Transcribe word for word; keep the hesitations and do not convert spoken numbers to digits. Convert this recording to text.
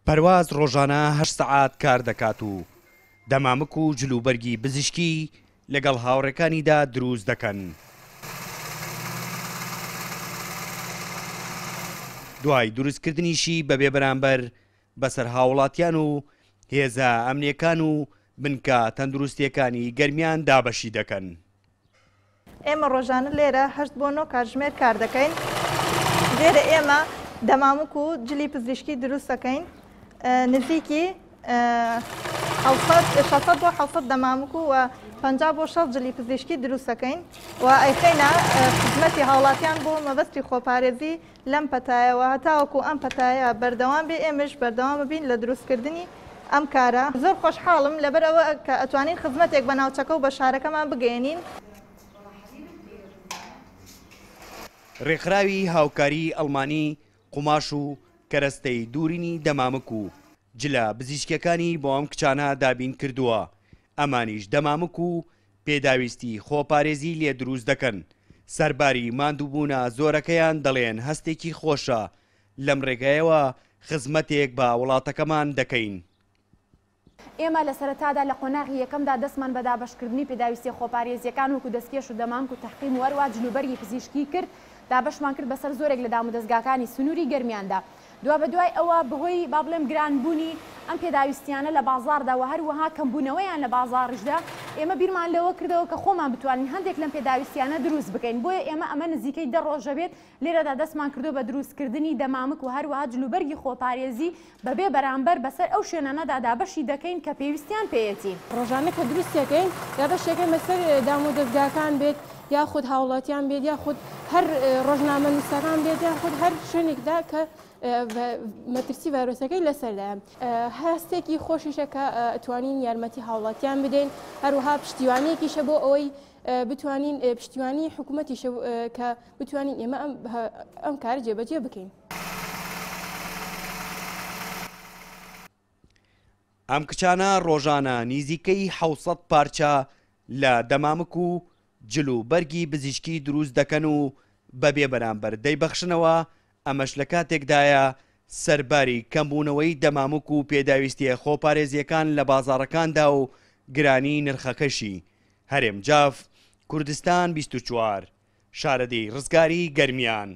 پەرواز ڕۆژانە هەشت سەعات کار دەکات و دەمامک و جلوبەرگی پزیشکی لەگەڵ هاوڕێکانیدا دروست دەکەن. دوای دروستکردنیشی بەبێ بەرامبەر بەسەر هاوڵاتیان و هێزە ئەمنیەکان و بنکە تەندروستیەکانی گەرمیان دابەشی دەکەن. ئێمە ڕۆژانە لێرە هەشت بۆ نۆ کاتژمێر کار دەکەین. لێرە ئێمە دەمامک و جلی پزیشکی دروست دەکەین، نزیکی شەش سەد بۆ حەوت سەد دەمامک و پەنجا بۆ شەست جلی پزیشکی دروست دەکەین و ئەیخەینە خزمەتی هاوڵاتیان بۆ مەبەستی خۆپارێزی لەم پەتایەوە. هەتاوەکو ئەم پەتایە بەردەوام بێ، ئێمەش بەردەوام بین لە دروستکردنی ئەم کارە. زۆر خۆشحاڵم لەبەر ئەوە کە ئەتوانین خزمەتێک بە ناوچەکە و بە شارەکەمان بگەێنین. ڕێکخراوی هاوکاری ئەڵمانی قوماش و کەرەستەی دوورینی دەمامک و جلە پزیشکیەکانی بۆ ئەم کچانە دابین کردووە. ئەمانیش دەمامک و پێداویستی خۆپارێزی لێ دروست دەکەن. سەرباری ماندووبوونە زۆرەکەیان دەڵێن هەستێکی خۆشە لەم ڕێگایەوە خزمەتێک بە وڵاتەکەمان دەکەین. ئێمە لە سەرەتادا لە قۆناغی یەکەمدا دەستمان بە دابەشکردنی پێداویستیە خۆپارێزیەکان وەکو دەستکێش و دەمامک و تەحقیم و هەروەها جلوبەرگی پزیشکی کرد، دابەشمان کرد بەسەر زۆرێک لە دامودەزگاکانی سنووری گەرمیاندا. دوا بەدوای ئەوە بەهۆی با بڵێم گرانبوونی ئەم پێداویستیانە لە بازاڕدا و هەروەها کەمبوونەوەیان لە بازاڕیشدا، ئێمە بیرمان لەوە کردەوە کە خۆمان بتوانین هەندێک لەم پێداویستیانە دروست بکەین. بۆیە ئێمە ئەمە نزیکەی دە ڕۆژە بێت لێرەدا دەستمان کردو بە دروستکردنی دەمامک و هەروەها جلوبەرگی خۆپارێزی بەبێ بەرامبەر بەسەر ئەو شوێنانەدا دابەشی دەکەین کە پێویستیان پێیەتی. ڕۆژانە کە دروستەکەین دابەشەکەین بەسەر دامودەزگاکان بێت، یاخود هاوڵاتیان بێت، یاخود هەر ڕۆژنامە نووسەکان بێت، یاخود هەر شوێنێکدا کە مەترسی ڤایرۆسەکەی لەسەردایە. هەستێکی خۆشیشە کە توانین یارمەتی هاوڵاتیان بدەین، هەروەها پشتیوانیەکیشە بۆ ئەوەی بتوانین پشتیوانی حکوومەتیشە کە بتوانین ئێمە ئەم کار جێبەجێ بکەین. ئەم کچانە ڕۆژانە نزیکەی حەوت سەد پارچە لە دەمامک و جل و بەرگی پزیشکی دروست دەکەن و بەبێ بەرامبەر دەیبەخشنەوە. ئەمەش لە کاتێکدایە سەرباری کەمبوونەوەی دەمامک و پێداویستیە خۆپارێزیەکان لە بازاڕەکاندا و گرانی نرخەکەشی. هەرێم جاف، کوردستان بیست و چوار، شارەدێی ڕزگاری، گەرمیان.